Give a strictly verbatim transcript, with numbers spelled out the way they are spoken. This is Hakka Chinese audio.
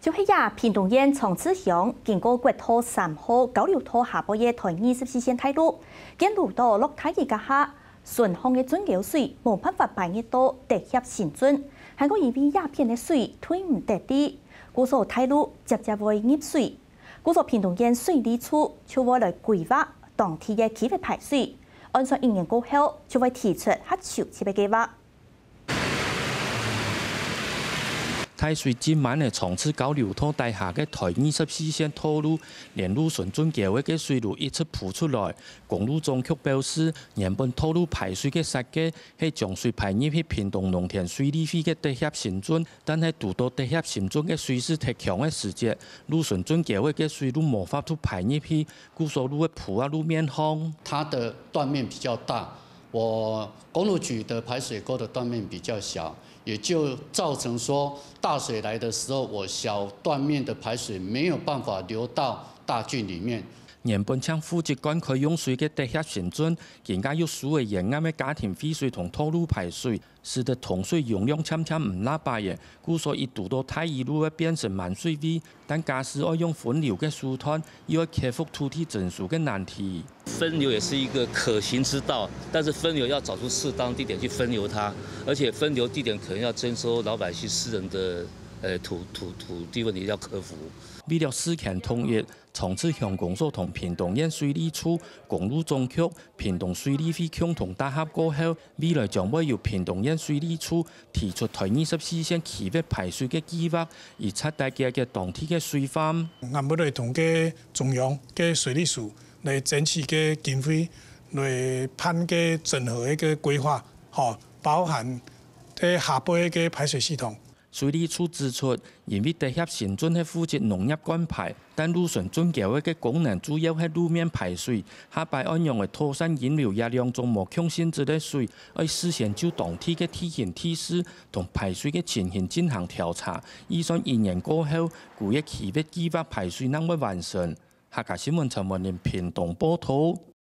就係這屏東縣長治鄉，經過國道三號交流道下背个台二十四線大路，見堵著落大雨該下，順巷个圳溝水無辦法排入到德協新圳，還過因為這片个水退毋得去，故所大路輒輒會入水。故所屏東縣水利處就會來規劃當地个區域排水，按算一年過後就會提出較周全个計畫。 大水浸滿个長治交流道底下个台二十四線道路，連路脣圳溝仔个水都一直浮出來。公路總局表示，原本道路排水个設計係將水排入去屏東農田水利會个德協新圳，但係堵著德協新圳个水勢忒強个時節，路脣圳溝仔个水都無法度排入去，故所路个鋪啊路面項。它的斷面比較大，我公路局的排水溝的斷面比較小，也就造成說大水來的時候，我小斷面的排水沒有辦法流到大圳裡面。原本淨負責灌溉用水个德協新圳，今下又輸个沿岸个家庭廢水同道路排水，使得通水容量漸漸毋罅擺了，故所一堵著大雨就會變成滿水位。 但假使愛用分流个手段，又愛克服土地徵收个難題。分流也是一個可行之道，但是分流要找出適當地點去分流它，而且分流地點可能要徵收老百姓私人的，呃，土，土，土地問題要克服。為了事權統一，長治鄉公所同屏東縣水利處、公路總局、屏東水利會共同打合過後，未來將會由屏東縣水利處提出台二十四線區域排水个計畫，以測大家个當地个水患。𠊎會來同个中央个水利署來爭取个經費，來辦个整合个規劃，吼，包含个下背个排水系統。水利處指出，因為德協新圳係負責農業灌溉，但路脣圳溝仔个功能主要係路面排水，下擺愛仰仔妥善引流這兩種無共性質个水，愛事先就當地个地形地勢同排水个情形進行調查，預算一年過後，舊个區域計畫排水正會完成。客家新聞陳文林屏東報導。